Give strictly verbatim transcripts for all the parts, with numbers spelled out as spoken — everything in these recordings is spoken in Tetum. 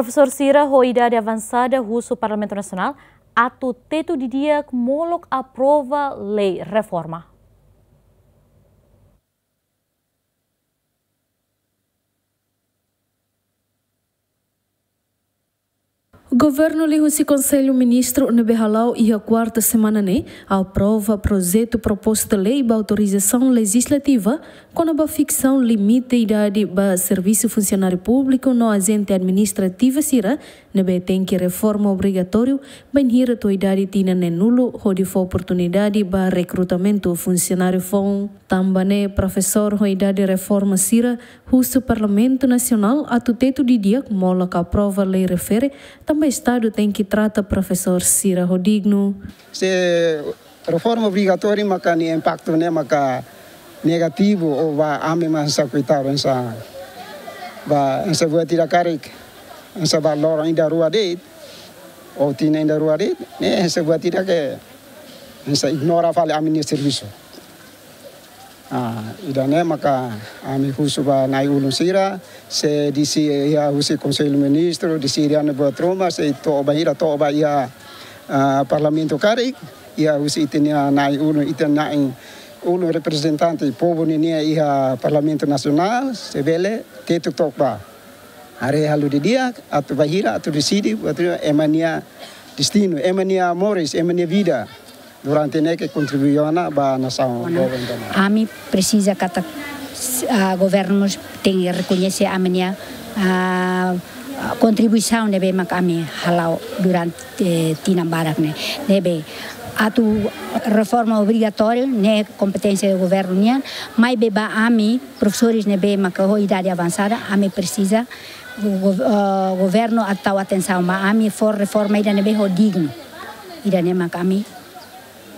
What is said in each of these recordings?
Profesór sira ho idade avansada husu Parlamentu Nasionál atu tetu didi'ak molok aprova lei reforma. Governu liuhusi Konsellu Ministru ne'ebé hala'o iha kuarta semana ne'e aprova projetu proposta lei ba autorizasaun lejizlativa kona-ba fiksaun limite idade ba servisu funsionáriu públiku no ajente administrativa sira ne'ebé tenke reforma obrigatóriu bainhira to'o idade tinan neenulu hodi fó oportunidade ba rekrutamentu funsionáriu foun. Tanba ne'e profesór ho idade reforma sira husu Parlamentu Nasionál atu tetu didi'ak molok aprova lei refere tanba Estadu tenke trata profesór sira ho dignu. Se reforma obrigatóriu maka nia impaktu ne'e maka negativu, ou ba ami mak hanesan koitadu, hanesan ba hanesan buat ida karik, hanesan ba loron ida rua de'it, ou tinan ida rua de'it, ne'e hanesan buat ida ke hanesan ignora fali ami-nia servisu. Ah, ida-ne'e maka ami husu ba na'i-ulun sira, se deside iha husi Konsellu Ministru, deside iha ne'ebá ruma, se to'o ba hira, to'o ba iha, ah, Parlamentu karik, iha husi ita-nia na'i-ulun, ita na'i-ulun reprezentante povu ninian iha Parlamentu Nasionál, se bele tetu took ba. Haree halo didi'ak, atu ba hira, atu deside, atu ema nia destinu, ema nia moris, ema nia vida durante ne'e ke kontribui ona ba nasaun. Ona, governu. Ami presiza katak, ah, governu tenke rekoñese ami-nia, ah, kontribuisaun ne'ebé mak ami hala'o durante tinan barak ne'e. Ne'ebé atu reforma obrigatóriu ne'e kompeténsia governu nian, maibé ba ami profesores ne'ebé maka ho idade avansada, ami presiza go-, eh, governu atu tau atensaun ba ami, fó reforma ida ne'ebé ho dignu. Ida-ne'e maka ami,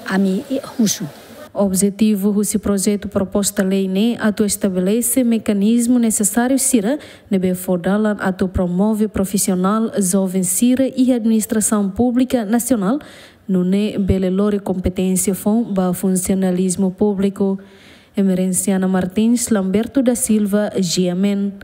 ami husu. Objetivu husi projetu proposta lei ne'e atu estabelese mekanizmu nesesáriu sira ne'ebé fó dalan atu promove profisionál joven sira iha administrasaun públika nasionál, nune'e bele lori kompeténsia foun ba funsionalizmu públiku. Emerenciana Martins, Lamberto da Silva, G M N.